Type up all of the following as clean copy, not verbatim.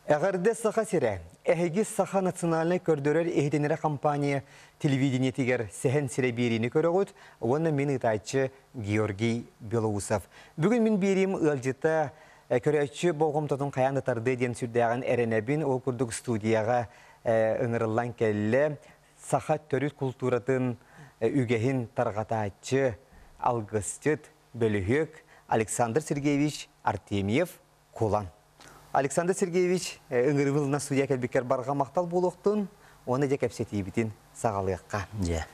Эҕэрдэ Саха сирэ! Эһиги Саха национальнай көрдөрөр иһитиннэрэр компания телевидениетигэр Сэһэн сирэ биэриини көрөҕүт уонна мин ыытааччы Георгий Белоусов. Бүгүн мин биэриим ыалдьыта көрөөччү болҕомтотун хайаан да тардыа диэн сүрдээҕин эрэнэбин. Ол курдук студияҕа ыҥырыллан кэллэ. Саха төрүт култууратын үгэһин тарҕатааччы, алгысчыт, бөлүһүөк Александр Сергеевич Артемьев Кулан. Александр Сергеевич, ыҥырыбылына судья кэлбиккэр барҕа махтал буолуохтун уонна дьэ кэпсэтиибитин саҕалыахха. Дьэ.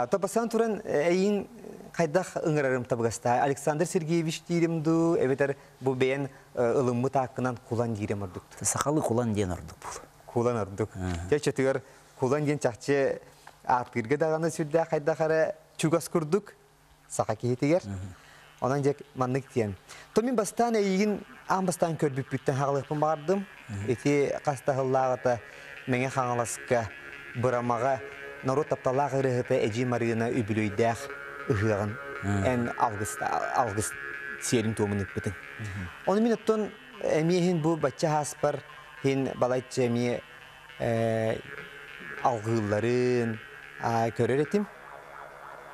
Топасан туран эйин хайдах ыҥырарым табыгастаа Александр Сергеевич диирим дуу, эбэтэр бу бэйэн ылыммыт ааккынан Кулан диирим ордук. Сахалыы Кулан диэн ордук бул. Кулан ордук. Дьэ чөтүгэр Кулан диэн чахчы ааттыырга даҕаны сүрдээх хайдах эрэ чугас курдук саха киһитигэр. Онон дьэ маннык диэн. То мин бастаан эйигин аан бастаан көрбүппүттэн хаҕалыахпын баҕардым. Ити хас да сыллааҕыта Мэҥэ Хаҥаласка Бырамаҕа норуот тапталлаах ырыаһыта Эдьиий Марыына үбүлүөйдээх ыһыаҕын эн алгыс алгыс сиэрин-туомун ыыппытыҥ. Ону мин оттон эмиэ иһин бу бачча ааспар иһин балачча эмиэ алгыылларын көрөр этим.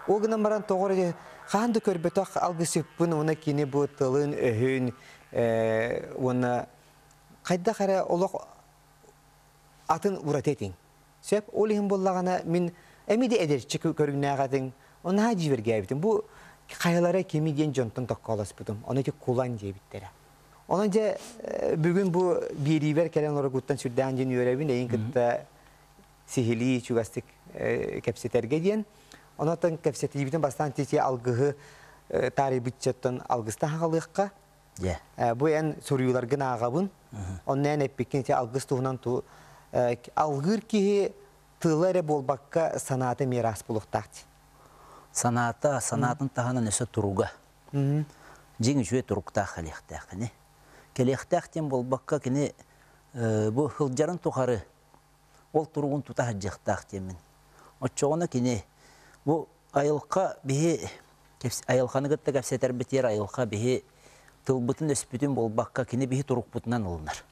Ол гынан баран тоҕо эрэ хаһан да көрбөтөх алгысыппын уонна кини бу тылын-өһүн уонна хайдах эрэ олох атын ураты этиҥ. Сөп, ол иһин буоллаҕына мин эмиэ да эдэрчи көрүҥнээх этиҥ, наһаа дьиибэргээбитим. Бу хайалара кими диэн дьонтон токкоолоспутум. Ону ити кулан диэбиттэрэ. Онон дьэ бүгүн бу биэриибэр кэлэн олоргуттан сүрдээх диэн үөрэбин, эйин кытта сиһилии чугастык кэпсэтэргэ диэн. Онон кэпсэтиибитин бастаан тити алгыһы таарыйбытчаттан алгыстан хаҕалыахха. Бу эн суруйууларгын ааҕабын. Онно эн эппиккин ити алгыс туһунан ту алгыыр киһи тыла эрэ буолбакка санаата эмиэ ыраас буолуохтаах дии. Санаата, санаатын таһынан өссө туруга. Дьиҥ үчүгэй туруктаах кэлиэхтээх кини. Кэлиэхтээх диэн буолбакка кини бу сылдьарын тухары ол туругун тута сылдьыахтаах диэммин. Оччоҕуна кини бу айылҕа биһи айылҕаны кытта кэпсэтэрбитигэр айылҕа биһи тылбытын-өспүтүн буолбакка кини биһи турукпутунан ылынар.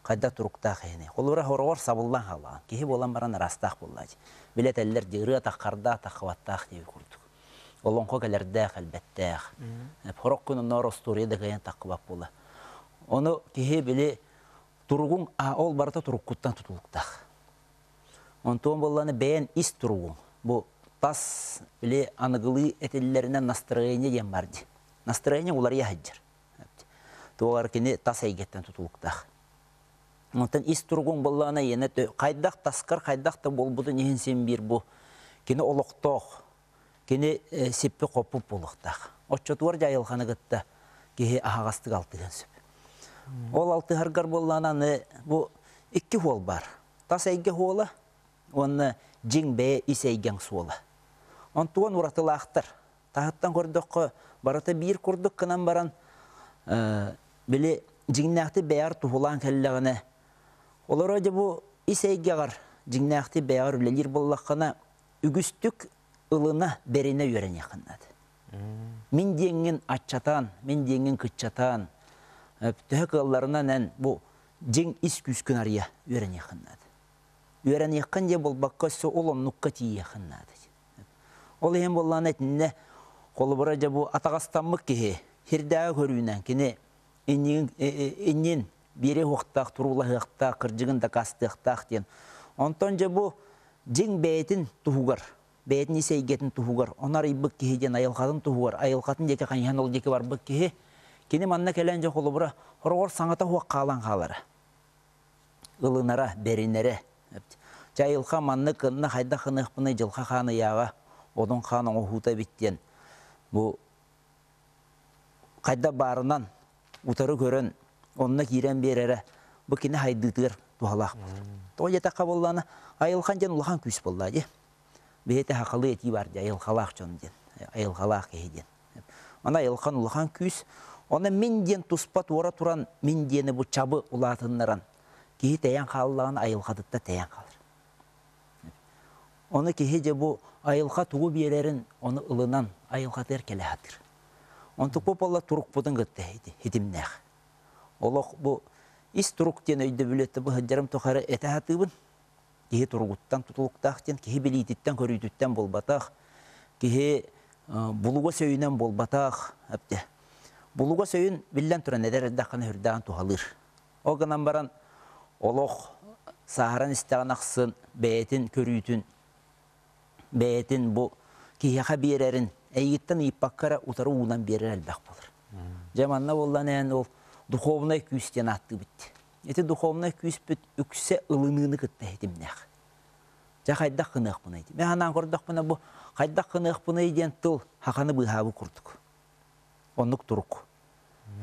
Хайдах туруктаах киһини. Холобура хороҕор сабыллан хаалаҕын. Киһи буолан баран араастаах буоллааччы. Билэ этэллэр дии ырыа таххардаах таххыбаттаах диэби курдук. Олоҥхо кэлэрдээх элбэттээх. Хорох күн онноор остуоруйа да кыайан таххыбат буола. Ону киһи били туругуҥ ол барыта туруккуттан тутулуктаах. Онтуон буоллаҕына бэйэн ис туругуҥ бу тас били аныгылыы этиллэринэн настроение диэн бар дии. Настроение уларыйа сылдьар. Туоҕар кини тас эйгэттэн тутулуктаах. Онтон ис туругуҥ буоллаҕына иэнэ хайдах таскар хайдах да буолбутун иһин син биир бу кини олохтоох кини сиппи-хоппут буолуохтаах. Оччотугар дьэ айылҕаны кытта киһи аһаҕастык алтыһыан сөп. Ол алтыһаргар буоллаҕына аны бу икки суол баар. Тас эйгэ суола уонна дьиҥ бэйэ ис эйгэҥ суола. Онтуон уратылаахтар. Таһыттан көрдөххө барыта биир курдук гынан баран били дьиҥнээхтик бэйэҕэр туһулаан кэллэҕинэ олоро дьэ бу ис эйгэҕэр дьиҥнээхтик бэйэҕэр үлэлиир буоллаххына үгүстүк ылына, бэринэ үөрэниэххин наада. Мин диэҥҥин аччатан, мин диэҥҥин кыччатан, төһө кыалларынан эн бу дьиҥ ис күүскүн арыйа үөрэниэххин наада. Үөрэниэххин диэн буолбакка, өссө ол оннукка тиийиэххин наада. Ол иһин буоллаҕына итиннэ холобура дьэ бу атаҕастаммыт киһи сирдээҕи көрүүнэн кини иннин, иннин биэриэ уохтаах, туруулаһыахтаах, кырдьыгын дакаастыахтаах диэн. Онтон дьэ бу дьиҥ бэйэтин туһугар, бэйэтин ис эйгэтин туһугар, ону арыйбыт киһи диэн айылҕатын туһугар, айылҕатын диэки хайыһан ол диэки барбыт киһи, кини манна кэлэн дьэ холобура хороҕор саҥата суох хаалан хаалара, ылынара, бэринэрэ. Чэ айылҕа маннык гынна хайдах гыныахпыный дьылҕа хаан ыйааҕа, одун хаан оҥоһуута эбит диэн бу хайдах баарынан утары көрөн онно киирэн биэрэрэ бу кини хайдыытыгар туһалаах буолар. Тоҕо диэтэххэ буоллаҕына айылхан диэн улахан күүс буоллаа дии. Биһиэтэ сахалыы этии бар дии айылҕалаах дьон диэн, айылҕалаах киһи диэн. Аны айылхан улахан күүс. Оны мин диэн туспа туора туран мин диэни бу чабы улаатыннаран киһи тэйэн хааллаҕына айылҕатыттан тэйэн хаалар. Ону киһи дьэ бу айылҕа тугу биэрэрин ону ылынан айылҕатыгар кэлэ сатыыр. Онтукпут буолла турукпутун кытта хитимнээх. Олох бу Ис турук диэн өйдөбүлү этэ бу сылдьарым тухары этэ сатыыбын. Киһи туругуттан тутулуктаах диэн, киһи билиититтэн, көрүүтүттэн буолбатах, киһи булугас өйүнэн буолбатах. Эптэ. Булугас өйүн биллэн туран эдэр эрдэххинэ сүрдээҕин туһалыыр. Ол гынан баран олох сааһыран истэҕин ахсын бэйэтин көрүүтүн, бэйэтин бу киһиэхэ биэрэрин эйигиттэн ыйыппакка эрэ утары уунан биэрэр элбэх буолар. Дьэ манна буоллан эн ол духовнай күүс диэн ааттыыбыт. Ити духовнай күүспүт үксэ ылыныыны кытта ситимнээх. Дьэ хайдах гыныахпыный? Мин санаан көрдөхпүнэ бу хайдах гыныахпыный диэн тыл хаханы быыһаабыт курдук. Оннук турук.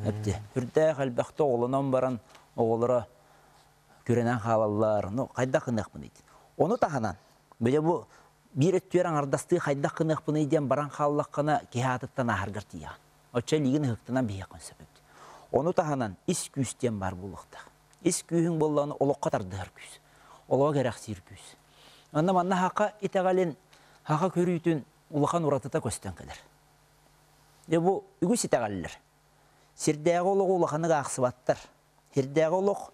Эпти. Үрдээх элбэхтэ оҕолонон баран оҕолоро күрэнэн хаалаллар. Ну хайдах гыныахпыный? Ону таһынан бile бу биир өттүгэр аҥардастыы хайдах гыныахпыный диэн баран хааллаххына киһи аатыттан ааһаргар тиийэҕин. Оччо илиигин ыһыктынан биһиэххин сөп эбит. Ону таһынан ис күүс диэн баар буолуохтаах. Ис күүһүҥ буоллаҕына олоххо тардыһар күүс. Олоҕо кэрэхсиир күүс. Онно манна хака итэҕэлин, хака көрүүтүн улахан уратыта көстөн кэлэр. Дьэ бу үгүс итэҕэллэр. Сирдээҕи олоҕу улаханнык аахсыбаттар. Сирдээҕи олох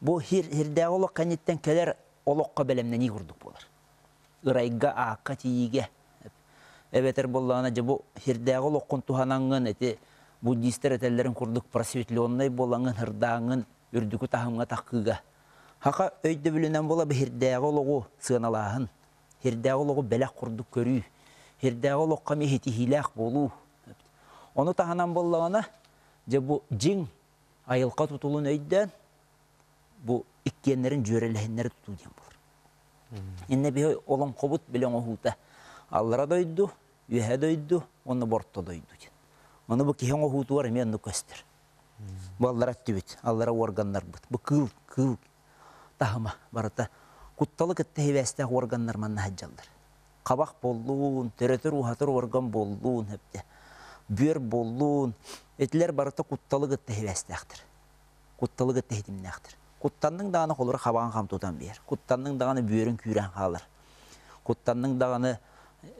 бу сирдээҕи олох кэнниттэн кэлэр олоххо бэлэмнэнии курдук буолар. Ырайга, аакка тиийиигэ эбэтэр буоллаҕына дьэ бу сирдээҕи олоххун туһанаҥҥын ити буддистар этэллэрин курдук просветленнай буолаҥҥын ырдааҥҥын үрдүкү таһымҥа таххыыга хака өйдөбүлүнэн буола биһирдээҕи олоҕу сыаналааһын сирдээҕи олоҕу бэлэх курдук көрүү сирдээҕи олоххо эмиэ ситиһиилээх буолуу ону таһынан буоллаҕына дьэ бу дьиҥ айылҕа тутулун өйдөөн бу иккиэннэрин дьүөрэлэһиннэри тутуу диэн буолар. Иннэ биһи олоҥхобут били оҥоһуута аллара дойду, үөһэ дойду уонна борто дойду диэн. Ону бу киһи оҥоһуутугар эмиэ оннук көстөр. Бу аллара өттүбүт, аллара уорганнарбыт. Бу кыыл, кыыл таһыма барыта кутталы кытта сибээстээх уорганнар манна сылдьаллар. Хабах буоллун, төрөтөр-ууһатар уорган буоллун, эптэ бүөр буоллун, итилэр барыта кутталы кытта сибээстээхтэр. Кутталы кытта ситимнээхтэр. Куттанныҥ даҕаны холура хабаҕын хам тутан биэр. Куттанныҥ даҕаны бүөрүн күүрэн хаалар. Куттанныҥ даҕаны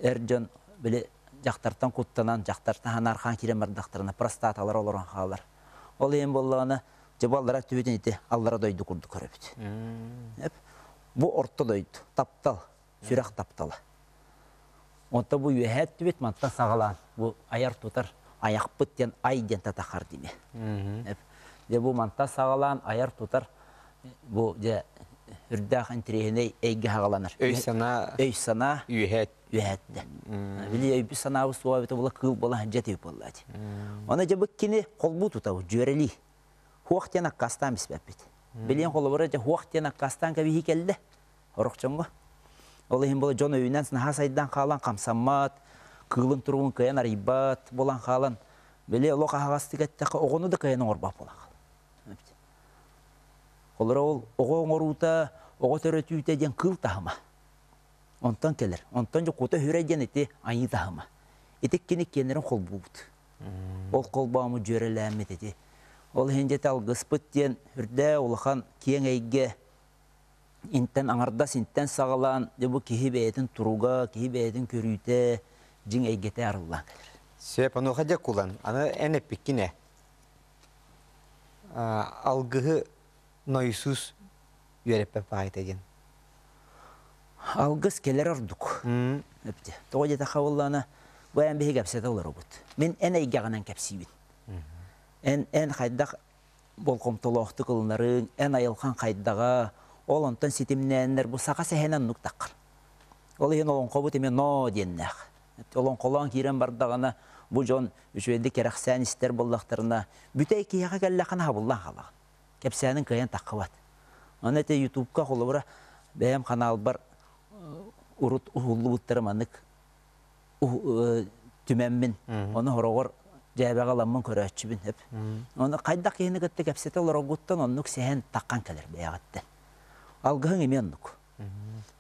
эр дьон били дьахтартан куттанан, дьахтартан ханаархаан киирэн бардахтарына простаталар олорон хаалар. Ол иһин буоллаҕына, дьэ бу аллара өттүбүтүн ити аллара дойду курдук көрөбүт. Бу орто дойду, таптал, сүрэх таптала. Онто бу үөһээ өттүбүт мантан саҕалаан бу айар-тутар айахпыт диэн ай диэн татахар диме. Дьэ бу мантан саҕалаан айар-тутар бу дьэ үрдээх интириэһинэй эйгэ саҕаланар. Өй-санаа өй-санаа үөһээ үөһээттэ. Били өйбүт-санаабыт суоҕа эбитэ була кыыл буола дьэ тип буолла дии. Оны дьэ бу кини холбуу тутабыт дьүөрэлии. Хуох диэн аккаастаан биспэппит. Билиэн холобура дьэ хуох диэн аккаастаан кэбиһии кэллэ. Орох дьоҥҥо. Ол иһин була дьон өйүнэн наһаа сайдан хаалан хамсаммат, кыылын туругун кыайан арыйбат буолан хаалан, били олох аһаҕастык эттэххэ оҕону да кыайан оҥорбот буолан хаалар. Холоро ол оҕо оҥоруута, оҕо төрөтүүтэ диэн кыыл таһыма. Онтон кэлэр. Онтон дьэ кута хүрэ диэн ити айыы таһыма. Ити кини киэннэрин холбуубут. Ол холбоому дьүөрэлээммит ити. Ол иһин дьэ алгыспыт диэн үрдээ улахан киэҥ эйгэ интэн аҥардас интэн саҕалаан дьэ бу киһи бэйэтин туруга, киһи бэйэтин көрүүтэ дьиҥ эйгэтэ арыллан кэлэр. Сөп, онуоха дьэ кулан, аны эн эппиккин ээ. Алгыһы Нойсуус үөрэппэт баайта диэн. Алгыс кэлэр ордук. Эпти. Тоҕо диэтэххэ буоллаҕына, бу эн биһиги кэпсэтэ олоробут. Мин эн эйгэҕинэн кэпсиибин. Эн эн хайдах болҕомтолоохтук ылынарыҥ, эн айылҕаҥ хайдаҕа, ол онтон ситимнээннэр бу саха сэһэнэ оннук таххар. Ол иһин олоҥхобут эмиэ ноо диэннээх. Олоҥхолоон киирэн бардаҕына, бу дьон үчүгэйдик кэрэхсээн истэр буоллахтарына, бүтэй киһиэхэ кэллэххинэ хабыллан хаалаҕын. Кэпсээнин кыайан таххыбат. Аны ити Ютубка холобура бэйэм ханаалбар урут уһуллубуттара маннык түмэммин, ону хороҕор дьээбэҕэ ыламмын көрөөччүбүн эп. Ону хайдах киһини кытта кэпсэтэ олороргуттан оннук сэһэн таххан кэлэр бэйэҕиттэн. Алгыһыҥ эмиэ оннук.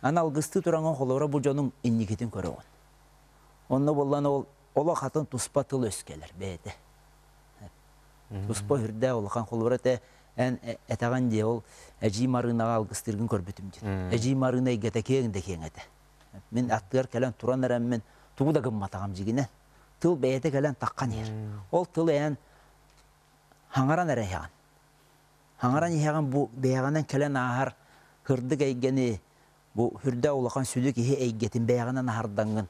Аны алгыстыы тураҥҥын холобура бу дьонуҥ инникитин көрөҕүн. Онно буоллан ол олох атын туспа тыл өс кэлэр бэйэтэ. Туспа үрдээх улахан холобура этэ эн этэҕин дии ол Эдьиий Марыынаҕа алгыстыыргын көрбүтүм диэн. Эдьиий Марыына эйгэтэ киэҥ да киэҥ этэ. Мин аттыгар кэлэн туран эрэммин тугу да гымматаҕым дьигинэн. Тыл бэйэтэ кэлэн таххан иһэр. Ол тыл эн хаҥаран эрэ иһэҕин. Хаҥаран иһэҕин бу бэйэҕинэн кэлэн ааһар һырдык эйгэни, бу үрдэ улахан сүдү киһи эйгэтин бэйэҕинэн аһардаҥҥын,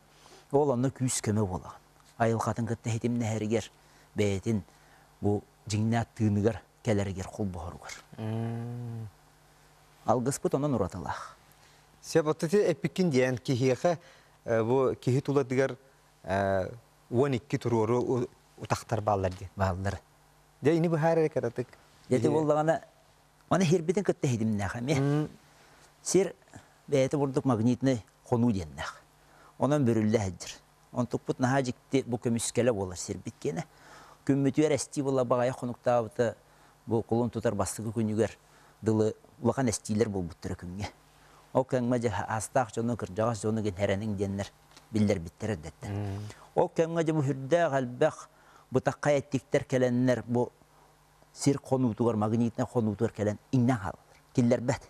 ол онно күүс-көмө буолаҕын. Айылҕатын кытта ситимнэһэригэр, бэйэтин бу дьиҥнээх тыыныгар кэлэригэр холбоһоругар. Алгыспыт онон уратылаах. Сөп, оттон эппиккин диэн киһиэхэ бу киһи тулатыгар 12 туруору утахтар бааллар диэн. Бааллар. Дьэ, ини быһаар эрэ кыратык. Дьэ, буоллаҕына, аны сирбитин кытта ситимнээх эмиэ. Сир бэйэтэ бурдук магнитнай хонуу диэннээх. Онон бүрүллэ сылдьар. Онтукпут наһаа дьикти бу көмүскэлэ буолар сирбит киэнэ. Күммүтүгэр эстии буола баҕайы хонуктаабыта бу кулун тутар бастакы күнүгэр дылы улахан эстиилэр буолбуттара күҥҥэ. Ол кэмҥэ дьэ аастаах дьону, кырдьаҕас дьону гин диэннэр биллэрбиттэр эрдэттэн. Ол кэмҥэ дьэ бу сүрдээх элбэх бытаххай эттиктэр кэлэннэр бу сир хонуутугар, магнитнай хонуутугар кэлэн иҥнэн хаалаллар, киллэрбэт.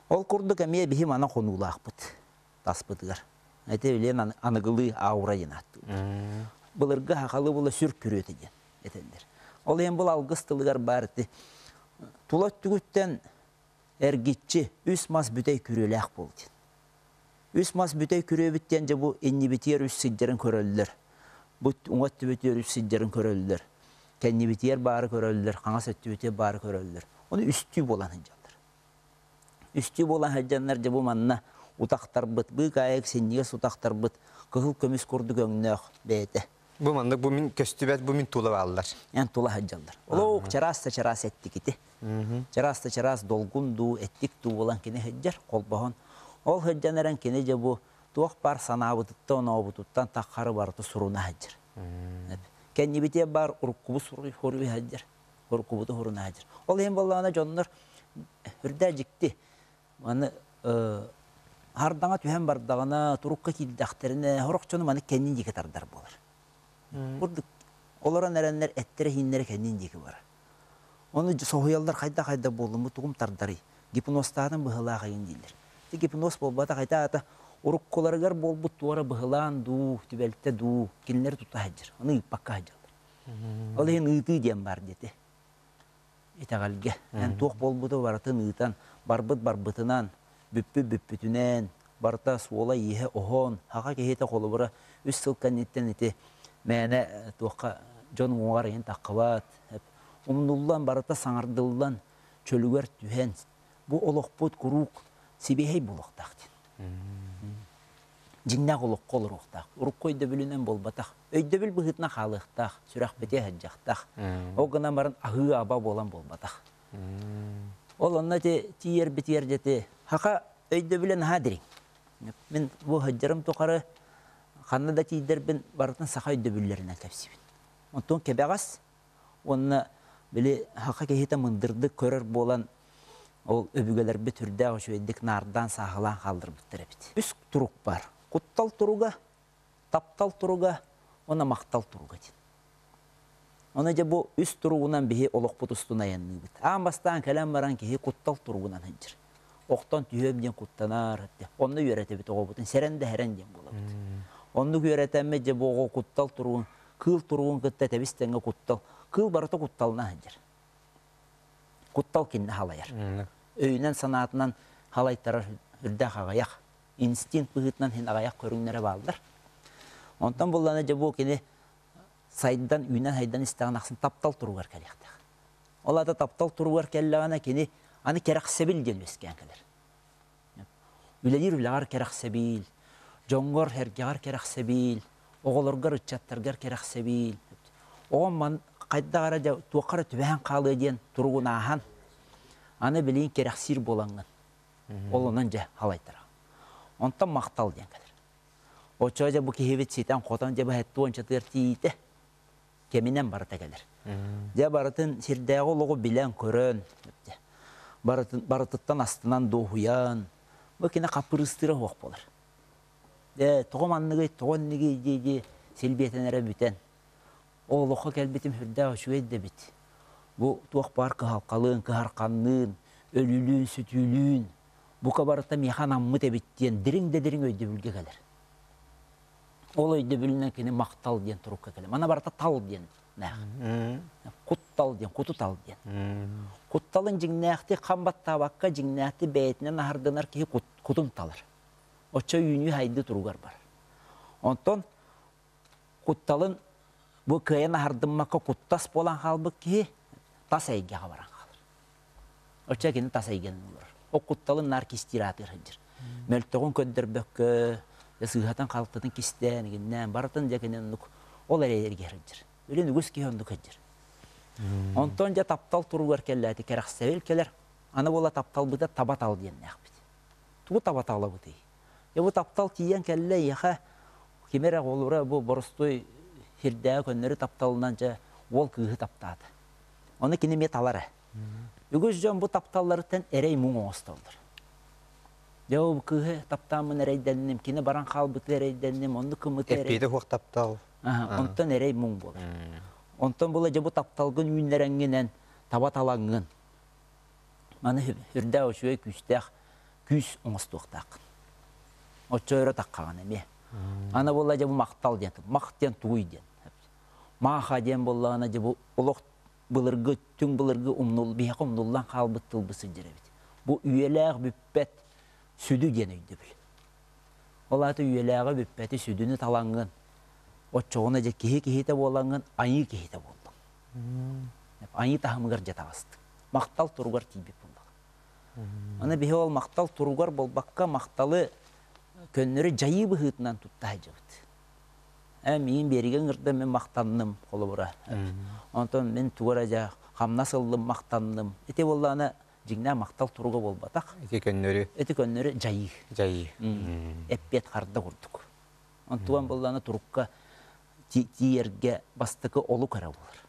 Ол курдук эмиэ биһи мана хонуулаахпыт таспытыгар. Ити билиэн аныгылыы аура диэн ааттыыллар. Былыргы хахалы була сүр күрүөтэ диэн этэллэр. Ол иһин бұл алгыс тылыгар баар ити тула өттүгүттэн эргиччи үс мас бүтэй күрүөлээх буол диэн. Үс мас бүтэй күрүөбүт диэн дьэ бу иннибитигэр үс сыдьарын көрөллөр. Бу уҥа өттүбүтүгэр үс сыдьарын көрөллөр. Кэннибитигэр баары көрөллөр, хаҥас өттүбүтүгэр баары көрөллөр. Ону үстүү буолан сылдьаллар. Үстүү буолан сылдьаннар дьэ бу манна утахтарбыт, быыкаайык синньигэс утахтарбыт кыһыл көмүс курдук өҥнөөх бэйэтэ. Бу маннык бу мин көстүбэт, бу мин тула бааллар. Эн тула сылдьаллар. Олох чараас да чараас эттик ити. Чараас да чараас долгун дуу, эттик дуу буолан кини сылдьар, холбоһон. Ол сылдьан эрэн кини дьэ бу туох баар санаабытыттан, онообутуттан таххары барыта суруна сылдьар. Кэннибитиэ баар уруккубут суруй сылдьар, уруккубуту суруна сылдьар. Ол иһин буоллаҕына дьоннор үрдээ дьикти. Маны хардаҥа түһэн бардаҕына, турукка киирдэхтэринэ, сорох дьону маны кэннин диэки тардар буолар. Курдук олорон эрэннэр эттэрэ-иһиннэрэ кэннин диэки барар. Ону соһуйаллар хайда-хайда буоллум, бу тугум тардарый? Гипнозтаатым быһылаах эйин дииллэр. Ити гипноз буолбатах, ити аата уруккуларыгар буолбут туора быһылаан дуу, түбэлтэ дуу, кинилэри тута сылдьар. Ону ыыппакка сылдьаллар. Ол иһин ыытыы диэн баар диэти. Итэҕэлгэ. Эн туох буолбуту барытын ыытан, барбыт барбытынан, бүппүт бүппүтүнэн, барыта суола-ииһэ оһон, хаха киһитэ холобура үс сыл кэнниттэн ити мээнэ туохха дьон уҥуоҕар иһин таххыбат, умнуллан, барыта саҥардыллан, чөлүгэр түһэн, бу олохпут куруук сибиэһэй буолуохтаах диэн. Дьиҥнээх олоххо олоруохтаах. Урукку өйдөбүлүнэн буолбатах. Өйдөбүл быһыытынан хаалыахтаах, сүрэхпитигэр сылдьыахтаах. Ол гынан баран аһыы-аба буолан буолбатах. Ол онно ити тиийэрбитигэр дьэ хака өйдөбүлэ наһаа дириҥ. Мин бу сылдьарым тухары ханна да тиийдэрбин барытын саха өйдөбүллэринэн кэпсиибин. Онтон кэбэҕэс уонна били саха киһитэ мындырдык көрөр буолан ол өбүгэлэрбит үрдээх үчүгэйдик наардаан сааһылаан хаалларбыттар эбит. Үс турук бар. Куттал туруга, таптал туруга уонна махтал туруга диэн. Ону дьэ бу үс туругунан биһи олохпут устун айанныыбыт. Аан бастаан кэлэн баран киһи куттал туругунан сылдьар. Охтон түһүөм диэн куттанар. Онно үөрэтэбит оҕобутун. Сэрэн да сэрэн диэн буолабыт. Оннук үөрэтэммит дьэ бу оҕо куттал туругун, кыыл туругун кытта тэбис тэҥҥэ куттал. Кыыл барыта кутталынан сылдьар. Куттал кинини халайар. Өйүнэн санаатынан халайтарар үрдээх аҕыйах. Инстинкт быһыытынан син аҕыйах көрүҥнэрэ бааллар. Онтон буллана дьэ бу кини сайдан, үүнэн-сайдан истэҕин ахсын таптал туругар кэлиэхтээх. Ол аата таптал туругар кэллэҕинэ кини аны кэрэхсэбил диэн үөскээн кэлэр. Үлэлиир үлэҕэр кэрэхсэбил, дьоҥҥор, эргэҕэр кэрэхсэбил, оҕолоргор, ыччаттаргар кэрэхсэбил. Оҕом ман хайдах эрэ дьэ туохха эрэ түбэһэн хаалыа диэн туругун ааһан, аны билигин кэрэхсиир буолаҥҥын, ол онон дьэ халайтара. Онтон махтал диэн кэлэр. Оччоҕо дьэ бу киһибит ситэн-хотон дьэ быһаттуончатыгар тиийдэ. Кэминэн барыта кэлэр. Дьэ барытын сирдээҕи олоҕу билэн-көрөн, барытын, барытыттан астынан дуоһуйан, бу кини хаппырыыстыыра суох буолар. Дьэ, тоҕо манныгый, тоҕо иннигий дии-дии силбиэтэнэрэ бүтэн. Ол олоххо кэлбитим сүрдээх үчүгэй да эбит. Бу туох баар кыһалҕалыын, кыһарханныын, өлүүлүүн, сүтүүлүүн, бука барыта миэхэ анаммыт эбит диэн дириҥ да дириҥ өйдөбүлгэ кэлэр. Ол өйдөбүлүнэн кини махтал диэн турукка кэлэр. Мана барыта тал диэн нээх. Куттал диэн, куту тал диэн. Кутталын дьиҥнээхтик хам баттаабакка дьиҥнээхтик бэйэтинэн аһардынар киһи кутун талар. Оччо үүнүү хайды туругар барар. Онтон кутталын бу кыайан аһардыммакка куттас буолан хаалбыт киһи тас эйгэҕэ баран хаалар. Оччо кини тас эйгэни олорор. Ол кутталын наар кистиир аатыгар сылдьар. Мөлтөҕүн көрдөрбөккө, сыыһатын-халтытын кистээн, игиннээн, барытын дьэ кини оннук ол эрэйэргэ сылдьар. Үлүн үгүс киһи оннук сылдьар. Онтон дьэ таптал туругар кэллээти кэрэхсэбил кэлэр. Аны буола тапталбыта таба тал диэннээхпит. Тугу таба талабытый? Дьэ бу таптал тиийэн кэллэ эйиэхэ ким эрэ оҕолоро бу боростуой сирдээҕи көннөрү тапталынан дьэ уол кыыһы таптаата. Ону кини эмиэ талар ээ. Үгүс дьон бу тапталларыттан эрэй-муҥ оҥостоллор. Дьэ ол кыыһы таптааммын эрэйдэнним, кини баран хаалбыты эрэйдэнним, оннук кыммыты эрэй... Эппиэтэ суох таптал. Онтон эрэй-муҥ буолар. Онтон була дьэ бу тапталгын үүннэрэҥҥинэн таба талаҥҥын маны үрдээх үчүгэй күүстээх күүс оҥостуохтааххын. Оччо өрө таххаҕын эмиэ. Аны буолла дьэ бу махтал диэн, мах диэн тугуй диэн. Мааха диэн буоллаҕына дьэ бу олох былыргы, түҥ былыргы умнул, биһиэхэ умнуллан хаалбыт тылбыт сылдьар эбит. Бу үйэлээх бүппэт сүдү диэн өйдөбүл. Ол аата үйэлээҕи бүппэти сүдүнү талаҥҥын, оччоҕуна дьэ киһи киһитэ буолаҥҥын айыы киһитэ буоллуҥ. Айыы таһымыгар дьэ таҕыстыҥ. Махтал туругар тиийбит буоллаҕа. Аны биһи ол махтал туругар буолбакка, махталы көннөрү дьайыы быһыытынан тутта сылдьабыт. Ээ, миигин биэригэ ыҥырда, мин махтанным, холобура. Онтон мин тугу эрэ дьэ хамнас ыллым, махтанным. Ити буоллаҕына дьиҥнээх махтал туруга буолбатах. Ити көннөрү. Ити көннөрү дьайыы. Дьайыы. Эппиэт харда курдук. Онтуган буоллаҕына турукка тиийэргэ бастакы олук эрэ буолар.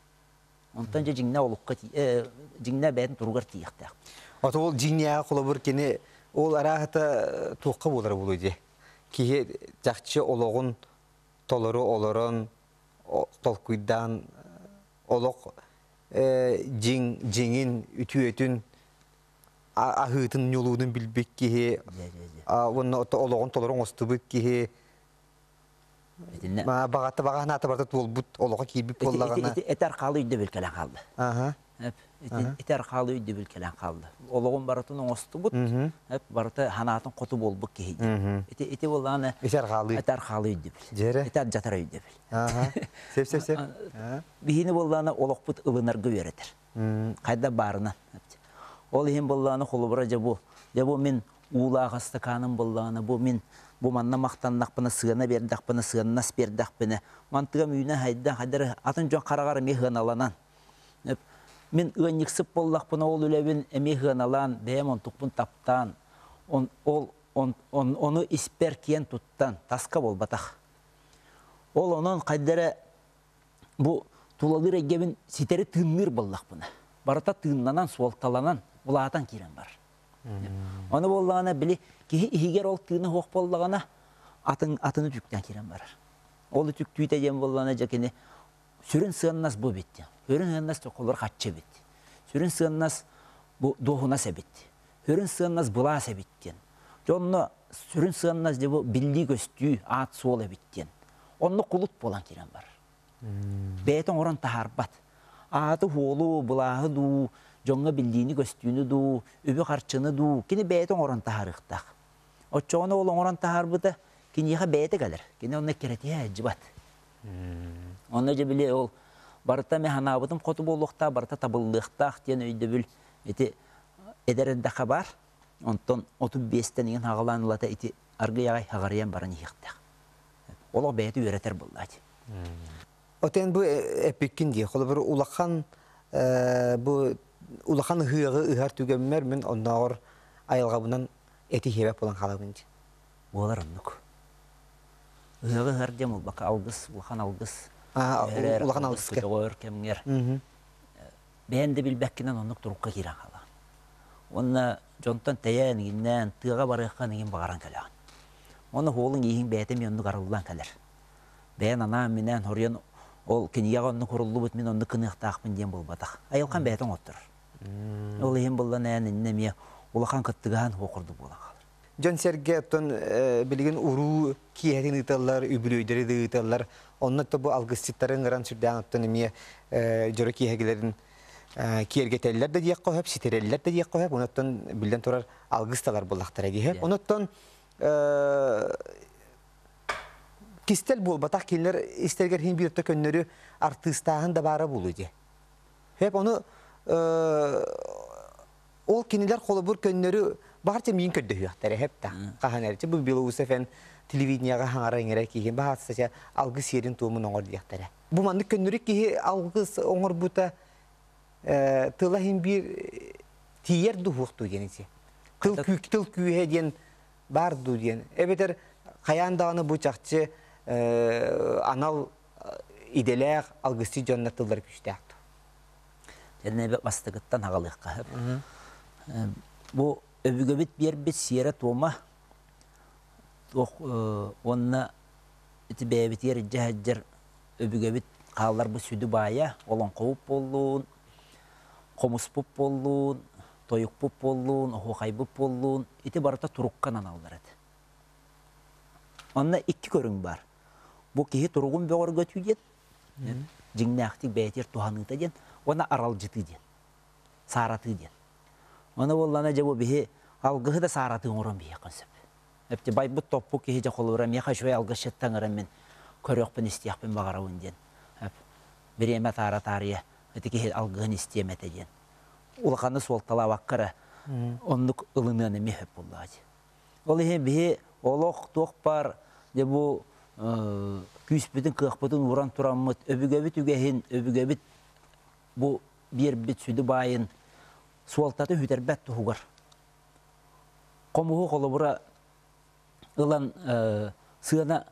Онтон дьэ дьиҥнээх олукка дьиҥнээх бэйэтин туругар тиийиэхтээх. Ото ол дьиҥнээҕи холобур кини ол арааһата туохха буолара буолуо дии. Киһи чахчы олоҕун толору олорон толкуйдаан олох дьиҥ дьиҥин үтүөтүн аһыытын ньулуунун билбит киһи уонна олоҕун толору оҥостубут киһи Итиннэ баҕата баҕа санаата барыта туолбут олоҕо киирбит буоллаҕына ити архаалы өйдөбүл кэлэн хаалла. Ити архаалы өйдөбүл кэлэн хаалла. Олоҕун барытын оҥостубут, барыта санаатын хоту буолбут киһи диэн. Ити ити буоллаҕына ити архаалы ити архаалы өйдөбүл. Ити алдьатар өйдөбүл. Сеп сеп сеп. Биһини буоллаҕына олохпут ылынарга үөрэтэр. Хайда баарынан. Ол иһин буоллаҕына холобура дьэ бу дьэ бу мин уулаах ыстакааным буоллаҕына бу мин бу манна махтаннахпына сыана биэрдэхпинэ сыаннас биэрдэхпинэ мантыгам үүнэ хайда хайдары атын дьон хараҕар эмиэ сыаналанан мин ыанньыксыт буоллахпына ол үлэбин эмиэ сыаналаан бэйэм онтукпун таптаан он, ол он, он, ону испэр киэн туттан таска буолбатах ол онон хайда эрэ бу тулалыыр эйгэбин ситэри тыынныыр буоллахпына барыта тыыннанан суолталанан улаатан киирэн барар Ону буоллаҕына, били киһи иһигэр ол тыына суох буоллаҕына, атын атыны үтүктэн киирэн барар. Ол үтүктүүтэ диэн буоллаҕына, дьэ кини сүрүн сыаннас бу эбит диэн. Сүрүн сыаннас холобур хаччы эбит. Сүрүн сыаннас бу дуоһунас эбит. Сүрүн сыаннас былаас эбит диэн. Дьэ онно сүрүн сыаннас дьэ бу биллии-көстүү, аат-суол эбит диэн. Онно кулут буолан киирэн барар. Бэйэтэ оҥорон таһаарбат. Ааты-уолу, былааһы дуу, дьоҥҥо биллиини-көстүүнү дуу, үбү-харчыны дуу кини бэйэтэ оҥорон таһаарыахтаах. Оччоҕуна ол оҥорон таһаарбыта киниэхэ бэйэтэ кэлэр. Кини онно эккирэтиһэ сылдьыбат. Онно дьэ били ол барыта мин санаабытым хоту буолуохтаах, барыта табыллыахтаах диэн өйдөбүл ити эдэр эрдэххэ баар. Онтон 35-тэн иҥин хаҕалаан ылата ити аргый аҕай хаҕарыйан баран иһиэхтээх. Олох бэйэтэ үөрэтэр буоллаати. Отен бу эппиккин дии. Холобур улахан бу улахан ыһыаҕы ыһар түгэммэр мин оннооҕор айылҕабынан эти хиэбэт буолан хаалабын дии. Буолар оннук. Ыһыаҕы ыһар диэн буолбакка алгыс, улахан алгыс. Улахан алгыска. Көтөҕөр кэмҥэр бэйэн да билбэккинэн оннук турукка киирэн хаалаҕын. Уонна дьонтон тэйэн, иҥиннээн, тыаҕа барыахха иҥин баҕаран кэлэҕин. Уонна уолуҥ ииһиҥ бэйэтэ эмиэ оннук арыллан кэлэр. Бэйэн анаан-минээн хоруйан ол кинигэҕэ оннук суруллубут мин оннук гыныахтаахпын диэн буолбатах. Айылҕам бэйэтэ оҥотторор. Ол иһин буллан эн иннэ эмиэ улахан кыттыгаһан суох курдук буолан хаалар. Дьон-сэргэ оттон билигин уруу киэһэтин ыыталлар, үбүлүөйдэри да ыыталлар. Онно бу алгысчыттары ыҥыран сүрдээх оттон эмиэ дьоро киэһэгилэрин киэргэтэллэр да диэххэ сөп, ситэрэллэр да диэххэ сөп. Онон биллэн турар алгыс талар буоллахтара дии. Онон кистэл буолбатах кинилэр истэригэр иһин биир көннөрү артыыстааһын да баара буолуо дии. Хөп ону ол кинилэр холобур көннөрү баҕар миин көрдөһүөхтэрэ хэп да хаһан эрчи бу Белоусов эн телевидениеҕа хаҥара иҥэрэ киһи баһаатса алгыс сиэрин туомун оҥор диэхтэрэ. Бу маннык көннөрү киһи алгыс оҥорбута тыла иһин биир тиийэр дуһуохтуу диэн ити. Тыл тыл күүһэ диэн баар дуу диэн. Эбэтэр хайаан даҕаны бу чахчы анал идэлээх алгысчыт дьоннор тыллара күүстээх дуо? Дьэннэбэ бастакыттан аҕалыахха сөп. Бу өбүгэбит биэрбит сиэрэ-туома уонна ити бэйэбитигэр илдьэ сылдьар өбүгэбит хаалларбыт сүдү баайа олоҥхобут буоллун, хомуспут буоллун, тойукпут буоллун, оһуохайбыт буоллун, ити барыта турукка аналлар этэ. Онно икки көрүҥ баар. Бу киһи туругун бөҕөргөтүү диэн, дьиҥнээхтик бэйэтигэр туһаныыта диэн, уонна аралдьытыы диэн, сааратыы диэн. Ону буоллаҕына дьэ бу биһи алгыһы да сааратыы оҥорон биһиэххэ сөп. Эпти байбыт топпу киһи дьэ холобура миэхэ үчүгэй алгысчыттан ыҥыран мин көрүөхпүн истиэхпин баҕарабын диэн. Бириэмэ таара таарыйа ити киһи алгыһын истиэм этэ диэн. Улаханы суолталаабакка эрэ оннук ылыныан эмиэ сөп буоллаҕа дии. Ол иһин биһи олох туох баар дьэ бу күүспүтүн, кыахпытын ууран тураммыт өбүгэбит үгэһин, өбүгэбит бу биэрбит сүдү баайын суолтатын сүтэрбэт туһугар хомуһу холобура ылан сыана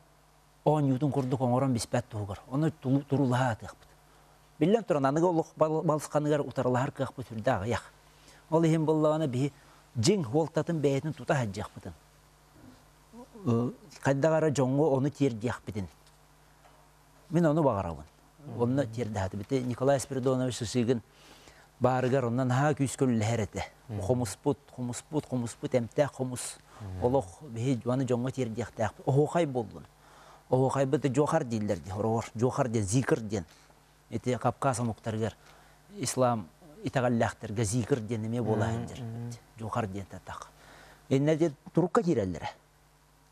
оонньуутун курдук оҥорон биспэт туһугар ону туруулаһа атыахпыт. Биллэн туран, аныгы олох балысханыгар утарылаһар кыахпыт сүрдээх аҕыйах. Ол иһин буоллаҕына биһи дьиҥ суолтатын бэйэтин тута сылдьыахпытын, хайдах эрэ дьоҥҥо ону тиэрдиэхпитин. Мин ону баҕарабын. Онно тиэрдэһэтибит. Николай Спиридонович Сысыгын баарыгар онно наһаа күүскэ үллэһэр этэ. Хомуспут, хомуспут, хомуспут эмтээх хомус. Олох биһи аны дьоҥҥо тиэрдиэхтээхпит. Оһуохай буоллун. Оһуохайбыт дьуохар дииллэр дии, хороҕор. Дьуохар диэн, зикр диэн. Ити Кавказ омуктарыгар ислам итэҕэллээхтэргэ зикр диэн эмиэ буола сылдьар. Дьуохар диэн татах. Иннэ диэн турукка киирэллэрэ.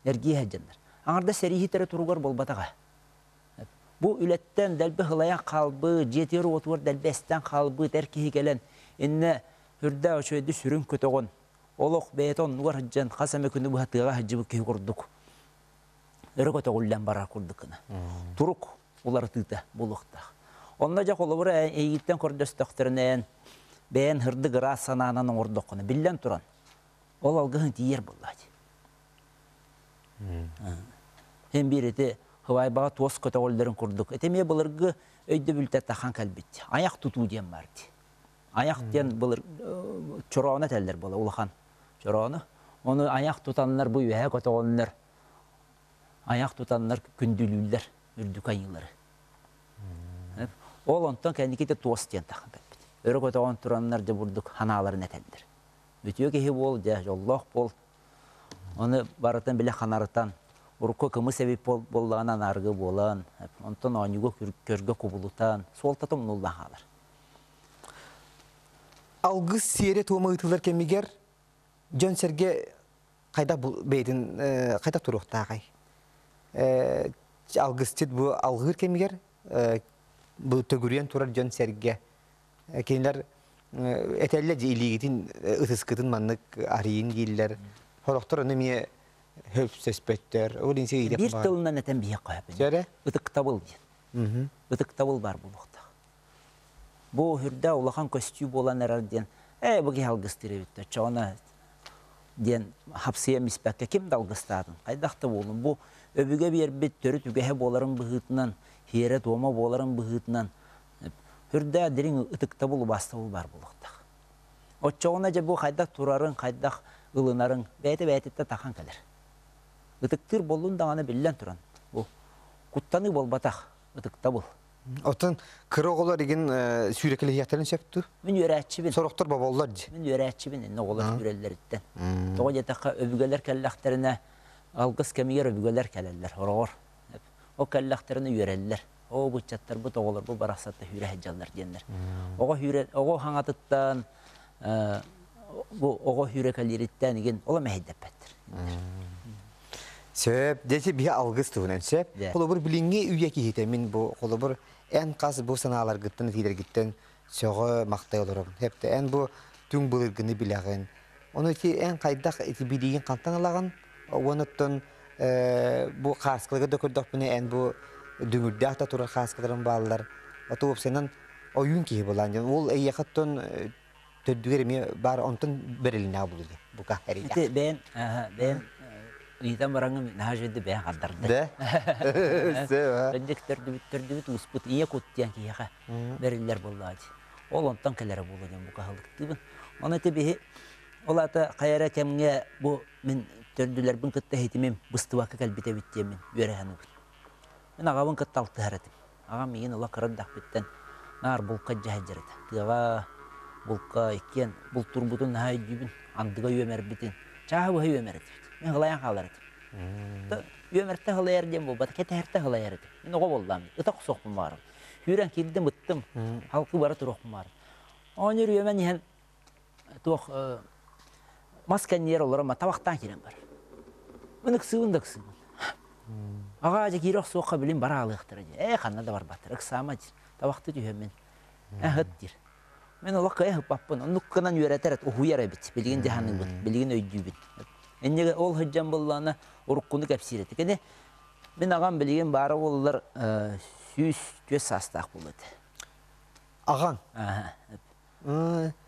Эргиэ сылдьаннар. Аҥардас сэрииһиттэрэ туругар буолбатаҕа. Бу үлэттэн дэлби сылайан хаалбыт, дьиэтигэр-уотугар дэлби эстэн хаалбыт эр киһи кэлэн, иннэ үрдээх үчүгэйдик сүрүн көтөҕөн, олох бэйэтэ оннугар сылдьан хас эмэ күнү быһа тыаҕа сылдьыбыт киһи курдук өрө көтөҕүллэн барар курдук гына. Турук уларытыыта буолуохтаах. Онно дьэ холобура эйигиттэн көрдөстөхтөрүнэ эн бэйэн һырдык ыраас санаанан оҥордоххуна биллэн туран ол алгыһын тиийэр буоллаа дии. Һин биир ити Хыбайбаҕа туос көтөҕөллөрүн курдук. Ити эмиэ былыргы өйдөбүлтэ тахан кэлбит. Айах тутуу диэн баар дии. Айах диэн былыр чороону этэллэр буола улахан чороону. Ону айах тутаннар бу үөһэ көтөҕөннөр айах тутаннар күндүлүүллэр үрдүк айыылары. Ол онтон кэнники туос диэн тахан кэлбит. Өрө көтөҕөн тураннар дьэ бурдук ханааларын этэллэр. Үтүө киһи буол, дьэ дьоллоох буол. Ону барытын билэ ханарытан, урукку кымыс эбит буоллаҕына анааргы буолан, онтон оонньууга көргө кубулутан, суолтата умнуллан хаалар. Алгыс сиэрэ-туома ыытыллар кэмигэр дьон-сэргэ хайдах бэйэтин хайдах туруохтааҕай? Алгысчыт бу алгыыр кэмигэр бу төгүрүйэн турар дьон-сэргэ кинилэр этэллэр дьэ илиигитин ытыскытын маннык арыйын дииллэр. Сорохтор ону эмиэ сөпсөспөттөр. Ол иһин Биир тылынан этэн биһиэххэ сөп. Ытыктабыл диэн. Ытыктабыл баар буолуохтаах. Бу үрдэ улахан көстүү буолан эрэр диэн ээ бу киһи алгыстыыр эбит оччоҕуна диэн хапсыйа миспэккэ ким да алгыстаатын хайдах да буолун бу өбүгэ биэрбит төрүт үгэһэ буоларын быһыытынан сиэрэ-туома буоларын быһыытынан үрдээх дириҥ ытыктабыл убаастабыл баар буолуохтаах. Оччоҕуна дьэ бу хайдах турарыҥ, хайдах ылынарыҥ бэйэтэ бэйэтиттэн тахан кэлэр. Ытыктыыр буоллун даҕаны биллэн туран, бу куттаныы буолбатах, ытыктабыл. Оттон кыра оҕолор игин сүүрэкэлэһиэхтэрин сөп дуу? Мин үөрээччибин. Сорохтор боболлор дии. Мин үөрээччибин иннэ оҕолор сүүрэллэриттэн. Тоҕо диэтэххэ өбүгэлэр кэллэхтэринэ алгыс кэмигэр өбүгэлэр кэлэллэр хороҕор. Ол кэллэхтэринэ үөрэллэр. Оо быччаттарбыт оҕолорбут барахсатта сүүрэ сылдьаллар диэннэр. Оҕо сүүрэ оҕо хаҥатыттан бу оҕо сүүрэкэлиириттэн игин ола мэһэйдэппэттэр. Сөп, дьэ биһи алгыс туһунан сөп. Холобур, билиҥҥи үйэ киһитэ мин бу холобур эн хас бу санааларгыттан этиилэргиттэн сөҕө махтай олоробун. Хэптэ эн бу түҥ былыргыны билэҕин. Ону ити эн хайдах ити билиигин хантан ылаҕын? Уонуттан бу хааскыларга да көрдөхпүнэ эн бу дүҥүрдээх да турар хааскыларым бааллар. Ото уопсайынан ойуун киһи буолаан диэн. Ол эйиэхэ оттон төрдүгэр эмиэ баар онтон бэрилинэҕэ булу диэн бука эрийдэх. Ити бэйэм бэйэм ыйытан бараҥҥын наһаа үчүгэйдик бэйэм хардарды. Да? Кырдьык төрдүбүт төрдүбүт ууспут ийэ кут диэн киһиэхэ бэриллэр буоллаҕа дии. Ол онтон кэлэрэ буолуо диэн бука аһылыктыыбын. Ону ити биһи ол аата хайа эрэ кэмҥэ бу мин төрдүлэрбин кытта иһитимим быстыбакка кэлбит эбит диэммин үөрэ саныыбын. Мин аҕабын кытта алтыһар этим. Аҕам миигин ыла кыра эрдэхпиттэн наар булка илдьэ сылдьар этэ. Тыаҕа булка иккиэн бултуурбутун наһаа өйдүүбүн, андыга үөмэрбитин. Чааһы быһа үөмэр этибит. Мин һылайан хаалар этим. Үөмэртэ һылайар диэн буолбата, кэтэһэртэ һылайар этим. Мин оҕо буоллаам, ыта охсуохпун баҕарабын. Сүүрэн киирдим, ыттым, халкы бара туруохпун баҕарабын. Оонньуур үөмэн иһэн туох мас кэннигэр олорон табахтаан киирэн барар. Мин ыксыыбын да ыксыыбын. Аҕаа дьэ киирэ охсуохха билин бара аалыахтара дии. Ээ ханна да барбаттар, ыксаама диир. Табахты түһэммин. Э ыт диир. Мин олох кыайа ыппаппын. Оннук гынан үөрэтэр эт, уһуйар эбит. Билигин дьаһаныыбын, билигин өйдүүбүн. Инньэ ол сылдьан буоллаҕына уруккуну кэпсиир этэ. Кини мин аҕам билигин баара буоллар 104 саастаах буолуо этэ. Аҕаҥ?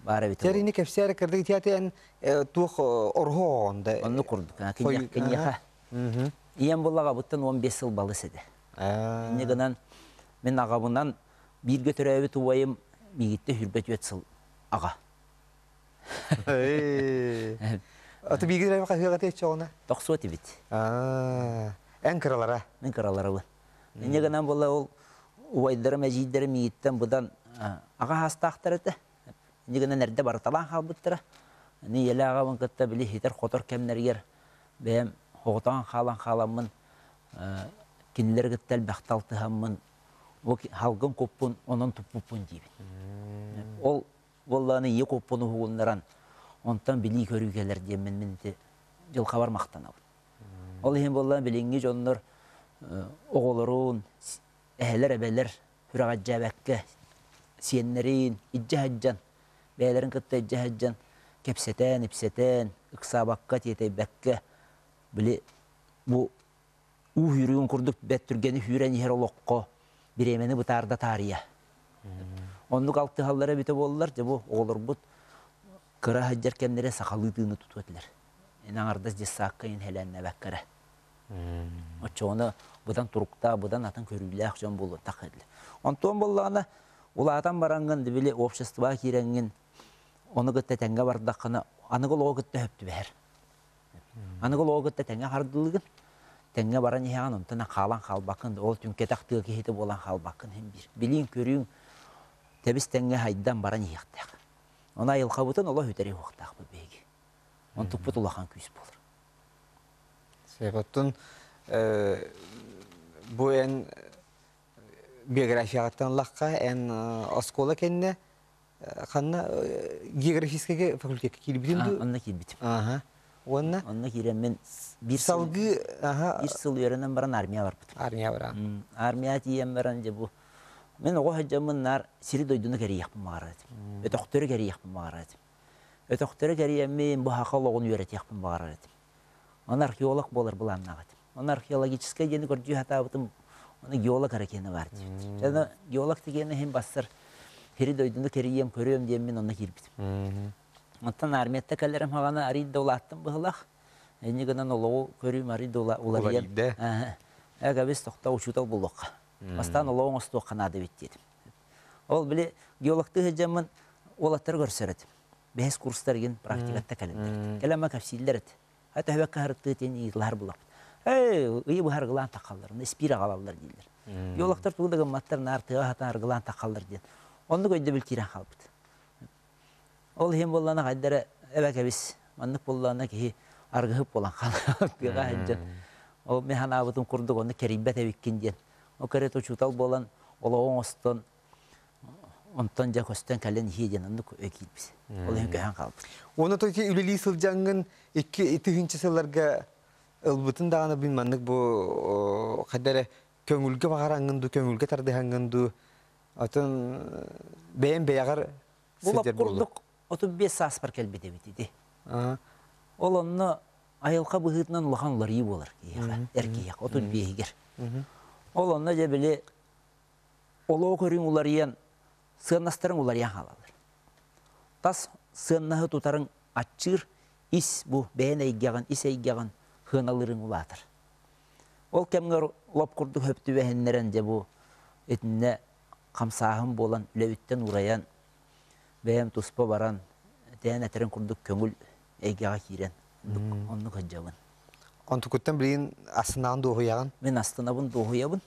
Баар эбит. Тэрини кэпсээр кырдык итиэти эн туох орһо оҕонда. Оннук курдук. Киниэхэ. Ийэм буолла аҕабыттан 15 сыл балыс этэ. Инньэ гынан мин аҕабынан бииргэ төрөөбүт убайым миигиттэн 24 сыл аҕа. Аты бииргэ төрөөбүт хаһыаҕа тиэччэҕинэ? Тохсуо этибит. Эн кыралара? Мин кыраларабын. Инньэ гынан буолла ол убайдарым, эдьиийдэрим миигиттэн быдан аҕа саастаахтар этэ. Инньэ гынан эрдэ барыталаан хаалбыттара. Аны ийэлээх аҕабын кытта били ситэр-хотор кэмнэригэр бэйэм оҕотоон хаалан хааламмын кинилэри кытта элбэхтэ алтыһаммын бу халгын куппун онон туппуппун диибин. Ол буоллаҕына ийэ куппун уһугуннаран онтон билии-көрүү кэлэр диэммин мин ити дьылҕабар махтанабын. Ол иһин буоллаҕына билиҥҥи дьоннор оҕолорун, эһэлэр-эбэлэр сүрэҕэлдьээбэккэ сиэннэрин илдьэ сылдьан, бэйэлэрин кытта илдьэ сылдьан кэпсэтэн-ипсэтэн, ыксаабакка, тиэтэйбэккэ били бу уу сүүрүгүн курдук бэрт түргэни сүүрэн иһэр олоххо бириэмэни бытаарда таарыйа. Оннук алтыһаллара эбитэ буоллар, дьэ бу оҕолорбут кыра сылдьар кэмнэрэ сахалыы тыыны тутуо этилэр. Эн аҥардас дьыссаакка иһэлээннэбэккэ эрэ. Оччоҕуна быдан туруктаах, быдан атын көрүүлээх дьон буолуохтаах этилэр. Онтон буоллаҕына, улаатан бараҥҥын, били обществоҕа киирэҥҥин, ону кытта тэҥҥэ бардаххына, аныгы олоҕу кытта сөп түбэһэр. Аныгы олоҕу кытта тэҥҥэ хардыылыгын, тэҥҥэ баран иһэҕин, онтон хаалан хаалбаккын, ол түҥкэтэх тыа киһитэ буолан хаалбаккын иһин биир. Билииҥ-көрүүҥ тэбис-тэҥҥэ хайдан баран иһиэхтээх. Ону айылҕабытын олох үтэриэ уохтаахпыт биһиги. Онтукпут улахан күүс буолар. Оттон бу эн биографияҕыттан ыллахха, эн оскуола кэннэ ханна географическай факультекка киирбитин дуу? Онно киирбитим. Аха. Уонна? Онно киирэммин биир салгыы биир сыл үөрэнэн баран армия барбытым. Армия баран. Армия тиийэн баран дьэ бу мин оҕо сылдьаммын наар сири-дойдуну кэрийиэхпин баҕарар этим. Өтөхтөрү кэрийиэхпин баҕарар этим. Өтөхтөрү кэрийэммин бу саха олоҕун үөрэтиэхпин баҕарар этим. Ону археолог буолар былааннаах этим. Ону археологическай диэни көрдүү сатаабытым, ону геолог эрэ киэнэ баар диэбит. Дьэ, геолог дигиэнэ иһин бассар сири-дойдуну кэрийиэм, көрүөм диэммин онно киирбитим. Оттон армията кэлэрим хаҕана арый да улааттым быһылах. Инньэ гынан олоҕу көрүүм арый да уларыйан. Эгэбис тохтоо учуутал буолуохха. Бастаан олоҕу оҥостуохха наада эбит диэтим. Ол били геологтыы сылдьаммын уолаттары көрсөр этим. Бэһис курстар игин практикатта кэлэллэр. Кэлэн кэпсииллэр эт. Хата хөбөккө харыттыы тиэн ыйыталаһар булаппыт. Ээ, ыйы быһа арыгылаан таххаллар, испиир аҕалаллар дииллэр. Биологтар тугу да гымматтар, наар тыаҕа сатаан арыгылаан таххаллар диэн. Оннук өйдөбүл киирэн хаалбыт. Ол иһин буоллаҕына хайда эрэ эбэ кэбис, маннык буоллаҕына киһи аргыһыт буолан хаалар тыаҕа сылдьан. Ол мин санаабытым курдук онно кэрийбэт эбиккин диэн. Ол кэриэтэ учуутал буолан олоҕу оҥостон онтон дьэ көстөн кэлэн иһиэ диэн оннук өй киирбит. Ол иһин көһөн хаалбыт. Уонна то үлэлии сылдьаҥҥын 2 тыһыынча сылларга ылбытын даҕаны бин маннык бу хайда эрэ көҥүлгэ баҕараҥҥын дуу, көҥүлгэ тардыһаҥҥын дуу, атын бэйэм бэйэҕэр сылдьар курдук 35 сааспар кэлбит эбит ити. Ол онно айылҕа быһыытынан улахан уларыйыы буолар киһиэхэ, эр киһиэхэ, 35-игэр. Ол онно дьэ били олоҕу көрүҥ уларыйан, сыаннастарыҥ уларыйан хаалаллар. Тас сыаннаһы тутарыҥ аччыыр, ис бу бэйэн эйгэҕин, ис эйгэҕин сыаналыырыҥ улаатар. Ол кэмҥэ лоп курдук хөп түбэһиннэрэн дьэ бу итиннэ хамсааһын буолан үлэбиттэн уурайан, бэйэм туспа баран, тээн этэрин курдук көҥүл эйгэҕэ киирэн оннук сылдьабын. Онтукуттан билигин астынаҕын дуоһуйаҕын? Мин астынабын дуоһуйабын.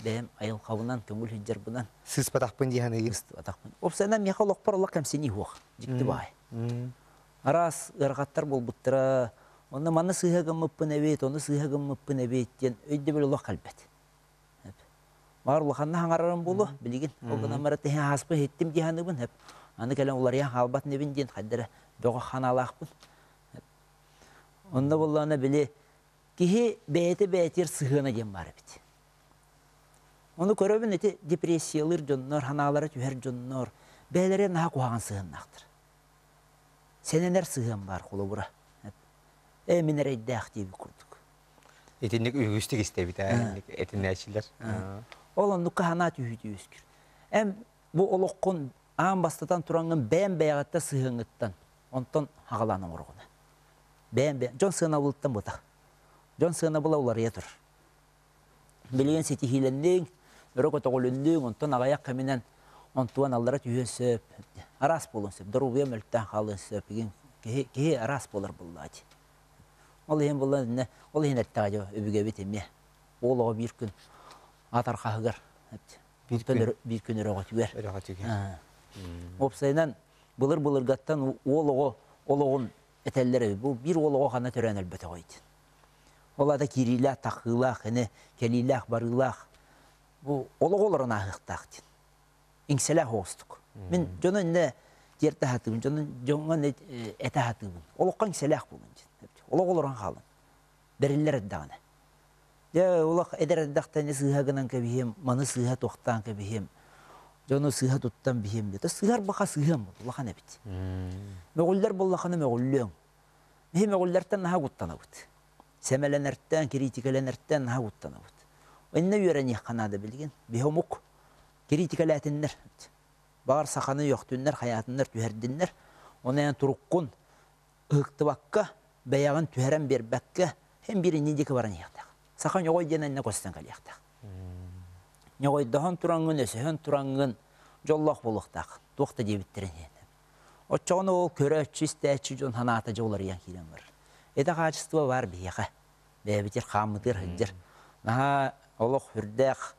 Бэйэм айылҕабынан, көҥүл сылдьарбынан. Сыыспатахпын дии саныыгын? Сыыспатахпын. Уопсайынан миэхэ олохпор олох кэмсинии суох. Дьикти баай. Араас ыарахаттар буолбуттара. Онно манна сыыһа гыммыппын эбит, ону сыыһа гыммыппын эбит диэн өйдөбүл олох кэлбэт. Баар улаханна хаҥарарым буолуо билигин. Ол гынан баран тэһэ ааспын иһиттим дии саныыбын. Аны кэлэн уларыйан хаалбат инибин диэн хайда эрэ бөҕө ханаалаахпын. Онно буоллаҕына били киһи бэйэтэ бэйэтигэр сыһыана диэн баар эбит. Ону көрөбүн ити депрессиялыыр дьоннор, ханаалара түһэр дьоннор бэйэлэрэ наһаа куһаҕан сыһыаннаахтар. Сэнэнэр сыһыан баар холобура. Ээ мин эрэйдээх диэбит курдук. Итинник үгүстүк истэбит ээ этинээччилэр. Ол оннукка санаа түһүүтэ үөскүүр. Эн бу олоххун аан бастатан тураҥҥын бэйэм бэйэҕиттэн сыһыаҥҥыттан онтон хаҕалаан оҥороҕун. Бэйэм бэйэм дьон сыанабылыттан бытах. Дьон сыанабыла уларыйа турар. Билигин ситиһиилэнниҥ, өрө көтөҕүлүннүҥ, онтон аҕыйах кэминэн онтуон аллара түһүөн сөп. Араас буолуон сөп. Доруобуйа мөлтөөн хаалыан сөп. Киһи, киһи араас буолар буоллаҕа дии. Ол иһин буолла иннэ, ол иһин эттэҕэ дьэ өбүгэбит эмиэ. Уол оҕо биир күн ат архаһыгар биир күн биир күн өрөҕөтүгэр. Өрөҕөтүгэр. Уопсайынан былыр-былыргаттан уол оҕо олоҕун этэллэр эбит. Бу биир уол оҕо ханна төрөөн өлбөтөҕөй диэн. Ол аата киириилээх, таххыылаах, ини кэлиилээх, барыылаах бу олоҕу олорон ааһыахтаах диэн. Иҥсэлээх оҕустук. Мин дьону иннэ тиэрдэ сатыыбын, дьону дьоҥҥо этэ сатыыбын. Олоххо иҥсэлээх буолун диэн. Олох олорон хаалын. Бэриллэр эрдэҕинэ. Дьэ, олох эдэр эрдэхтэн сыыһа гынан кэбиһиэм, маны сыыһа туохтаан кэбиһиэм, дьону сыыһа туттан биһиэм диэтэ. Сыыһар баха сыыһыам улахан эбит. Мөҕүллэр буоллахына мөҕүллүөҥ. Биһи мөҕүллэртэн наһаа куттанабыт. Сэмэлэнэртэн, кириитикэлэнэртэн наһаа куттанабыт. Иннэ үөрэниэххэ наада билигин. Биһи омук кириитикэлээтиннэр. Баҕар саханы үөхтүннэр, хайаатыннар, түһэрдиннэр. Оны эн туруккун ыһыктыбакка, бэйэҕин түһэрэн биэрбэккэ, һин биир иннин диэки баран иһиэхтээх. Саха ньоҕой диэн иннэ көстөн кэлиэхтээх. Ньоҕойдоһон тураҥҥын, өсөһөн тураҥҥын дьоллоох буолуохтаах. Туох да диэбиттэрин иһин. Оччоҕуна ол көрөөччү, истээччи дьон санаата дьэ уларыйан киирэн барар. Это качество баар биһиэхэ. Бэйэбитигэр хааммытыгар сылдьар. Наһаа олох үрдээх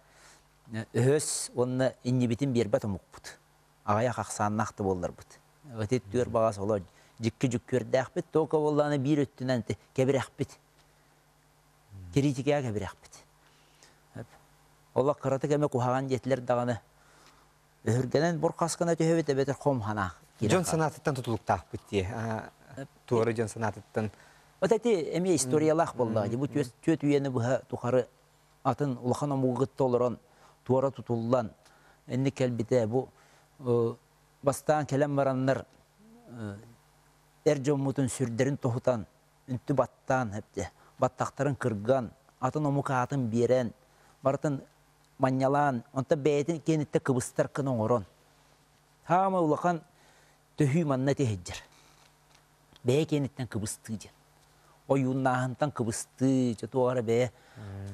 өһөс уонна иннибитин биэрбэт омукпут. Аҕыйах ахсааннаах да буолларбыт. Ити түөр баҕас оло дьикки дьүккүөрдээхпит, тока буоллаҕына биир өттүнэн кэбирэхпит. Кириитикэҕэ кэбирэхпит. Олох кыратык эмэ куһаҕан диэтилэр даҕаны өһүргэнэн бурхас гына түһэбит эбэтэр хом санаа Дьон санаатыттан тутулуктаахпыт дии. Туора дьон санаатыттан. Вот эти эмиэ историялаах буоллаҕа дии. Бу түөт үйэни быһа тухары атын улахан омугу кытта олорон туора тутуллан инник кэлбитэ. Бу бастаан кэлэн бараннар эр дьоммутун сүрдэрин тоһутан, үнтү баттаан, баттахтарын кырган, атын омук аатын биэрэн, барытын манньалаан, онтон бэйэтин киэниттэн кыбыстар гына оҥорон. Хаама улахан төһүү манна этиһиддьэр. Бэйэ киэниттэн кыбыстыы диэн. Ойууннааһынтан кыбыстыы, чэ туох эрэ бэйэ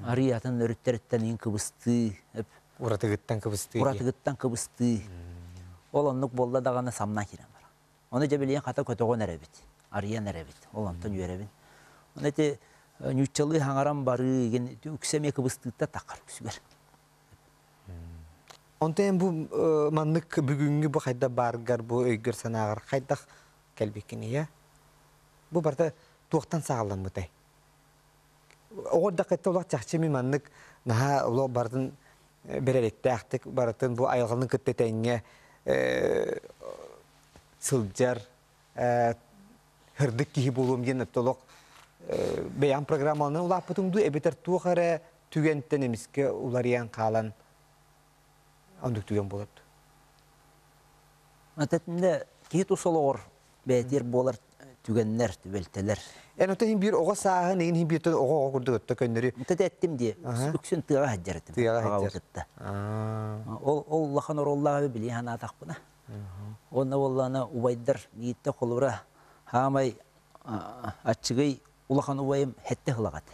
арыы атын өрүттэриттэн иин кыбыстыы. Уратыгыттан кыбыстыы. Уратыгыттан кыбыстыы. Ол оннук буолла даҕаны самнан киирэн барар. Ону дьэ билигин хата көтөҕөн эрэбит, арыйан эрэбит. Ол онтон үөрэбин. Ону ити Ньуччалыы хаҥаран барыы ген үксэ эмиэ кыбыстыытта таххар үксүгэр. Онтон бу маннык бүгүҥҥү бу хайда бааргар бу өйгөр санааҕар хайдах кэлбиккиний? Бу барыта туохтан саҕаламмытай? Оҕо эрдэххиттэн олох чахчы мин маннык наһаа олох барытын бэрээдэктээхтик барытын бу айылҕаны кытта тэҥҥэ сылдьар һырдык киһи буолуом диэн олох бэйэм программаларын улааппытым дуу эбэтэр туох эрэ түгэнтэн эмискэ уларыйан хаалан оннук түгэн буолар дуу? Этэтинде киһи тус олоҕор бэйэтиэр буолар түгэннэр, түбэлтэлэр. Эн оттон иһин биир оҕо сааһын иһин иһин бииртэн оҕо оҕо курдук өттө көннөрү. Ытыт эттим дии. Үксүн тыаҕа сылдьар этим. Тыаҕа сылдьар. Кытта. Ол ол улахан оруоллааҕы билии санаатахпына. Уонна буоллаҕына убайдар биирдэ холобура хаамай аччыгый улахан убайым сэттэ сылаҕа этэ.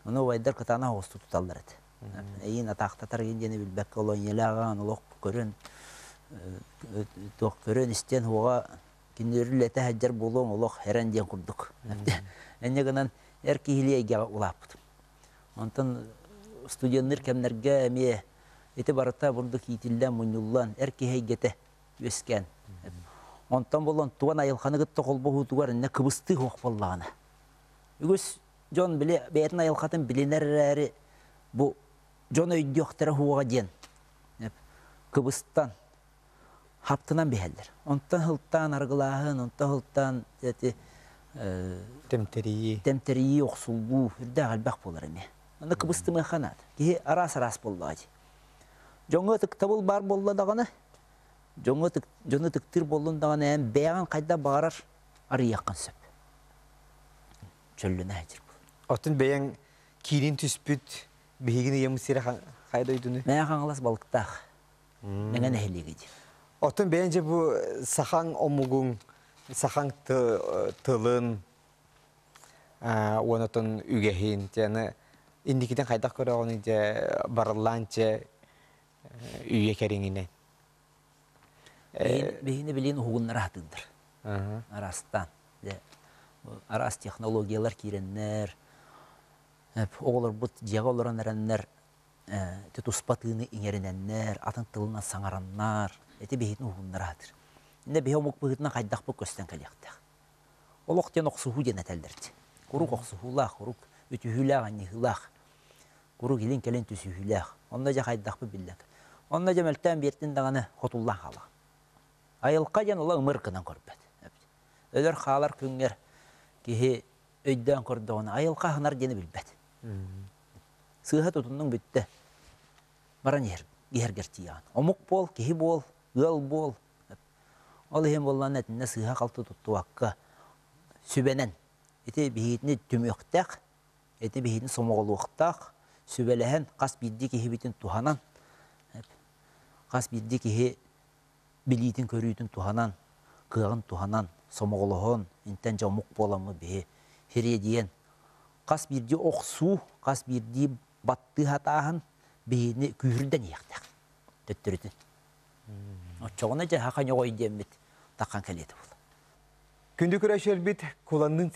Ону убайдар кытаанах оҕусту туталлар этэ. Эйиин атаахтатар игин диэни билбэккэ олох ийэлээх олох көрөн туох көрөн истэн уоҕа кинилэри үлэтэ сылдьар буолуоҥ олох эрэн диэн курдук. Инньэ гынан эр киһилии эйгэҕэ улааппытым. Онтон студенныыр кэмнэргэ эмиэ ити барыта бурдук иитиллэн, мунньуллан, эр киһи эйгэтэ үөскээн. Онтон буолан туон айылҕаны кытта холбоһуутугар иннэ кыбыстыы суох буоллаҕына. Үгүс дьон били бэйэтин айылҕатын билинэр эрээри бу дьон өйдүөхтэрэ суоҕа диэн кыбыстан хаптынан биһэллэр. Онтон сылтаан арыгылааһын, онтон сылтаан эти Тэмтэрийии. Тэмтэрийии, охсуллуу үрдээх элбэх буолар эмиэ. Аны кыбыстымыахха наада. Киһи араас-араас буоллаҕа дии. Дьоҥҥо ытыктабыл баар буолла даҕаны, дьоҥҥо дьону ытыктыыр буоллун даҕаны эн бэйэҕин хайдах баҕарар арыйыаххын сөп. Чөллөнө сылдьар буол. Оттон бэйэҥ киирин түспүт биһигин ыйаммыт сирэ хайа дойдуну? Мэҥэ Хаҥалас балыктаах. Мэҥэ нэһилиэгэ дии. Оттон бэйэҥ дьэ бу сахаҥ омугуҥ, сахаҥ тылын уонна оттон үгэһин дьэ инникитин хайдах көрөҕүнүй дьэ барыллаан дьэ үйэ кэриҥинэн? Биһини билин уһугуннара сатыыллар. Араастаан. Дьэ, араас технологиялар киирэннэр, оҕолорбут дьиэҕэ олорон эрэннэр ити туспа тыыны иҥэринэннэр, атын тылынан саҥараннар, ити биһитин уһуннара сатыыр. Иннэ биһи омук быһыытынан хайдахпыт көстөн кэлиэхтээх. Олох диэн охсуһуу диэн этэллэр дии. Куруук охсуһуулаах, куруук үтүһүүлээх, анньыһыылаах, куруук илин-кэлин түсүһүүлээх. Онно дьэ хайдахпыт биллэн. Онно дьэ мөлтөөн биэртин даҕаны хотуллан хаалаҕын. Айылҕа диэн ула ымыр гынан көрбөт. Өлөр хаалар күҥҥэр киһи өйдөөн көрдөҕүнэ айылҕа аһынар диэни билбэт. Сыыһа тутуннуҥ бүттэ. Баран иһэр, иһэргэр тиийэҕин. Омук буол, киһи буол, ыал буол. Ол иһин буоллаҕына итиннэ сыыһа-халты туттубакка сүбэнэн ити биһигитини түмүөхтээх, ити биһигини сомоҕолуохтаах, сүбэлэһэн хас биирдии киһибитин туһанан, хас биирдии киһи билиитин-көрүүтүн туһанан, кыаҕын туһанан, сомоҕолоһон, интэн дьэ омук буоламмыт биһи сириэдийэн хас биирдии охсуу, хас биирдии баттыы сатааһын биһини күүһүрдэн иһиэхтээх төттөрүтүн. Оччоҕуна дьэ хаха ньоҕой диэммит таххан кэлиэтэ буолла. Күндү көрөөччүлэрбит, Куланныын